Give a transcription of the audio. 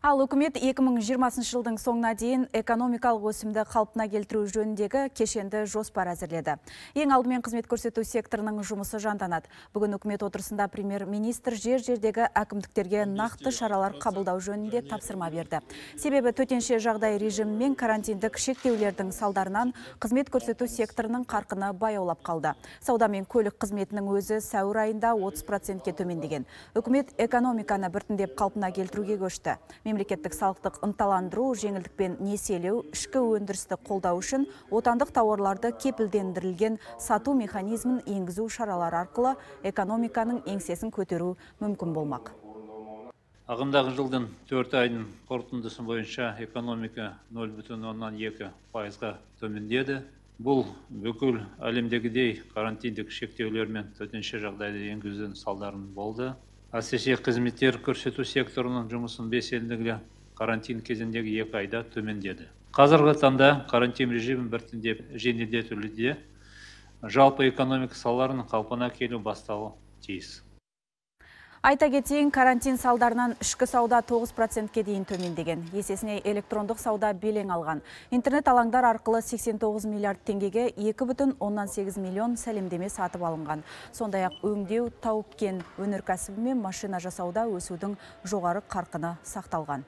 Ал үкімет 2020 жылдың соңына дейін экономикалық өсімді қалпына келтіру жөніндегі кешенді жоспар әзірледі. Ең алдымен қызмет көрсету секторының жұмысы жанданады. Бүгін үкімет отырысында премьер-министр жер-жердегі әкімдіктерге нақты шаралар қабылдау жөнінде тапсырма берді. Себебі төтенше жағдай режимі мен карантиндік шектеулердің салдарынан қызмет көрсету секторының қарқыны баяулап қалды. Сауда мен көлік қызметінің өзі сәуір айында 30%-ке төмендеген. Үкімет экономиканы біртіндеп қалпына келтіруге көшті. Мемлекеттік салықтық ынталандыру, жеңілдікпен несиелеу, ішкі өндірісті қолдау үшін отандық тауарларды кепілдендірілген сату механизмін енгізу шаралары арқылы экономиканың еңсесін көтеру мүмкін болмақ. Ағымдағы жылдың 4 айдың қорытындысы бойынша экономика 0,2%-ға төмендеді. Бұл бүкіл әлемдегідей карантиндік шектеулер мен төтенше жағдайды енгізудің салдарын болды. Әсіресе қызметтер көрсету секторының жұмысын белсенділігі карантин кезіндегі 2 айда төмендеді. Қазіргі таңда карантин режимі біртіндеп жеңілдетілуде, жалпы экономика салаларының қалпына келу бастауы тиіс. Айта кетейін, карантин салдарынан ішкі сауда 9%-ке дейін төмендеген. Есесіне электрондық сауда белең алған. Интернет алаңдар арқылы 89 миллиард теңгеге 2,8 миллион сәлемдеме сатып алынған. Сондай-ақ өңдеу, тау-кен өнеркәсібі мен машина жасауда өсудің жоғары қарқыны сақталған.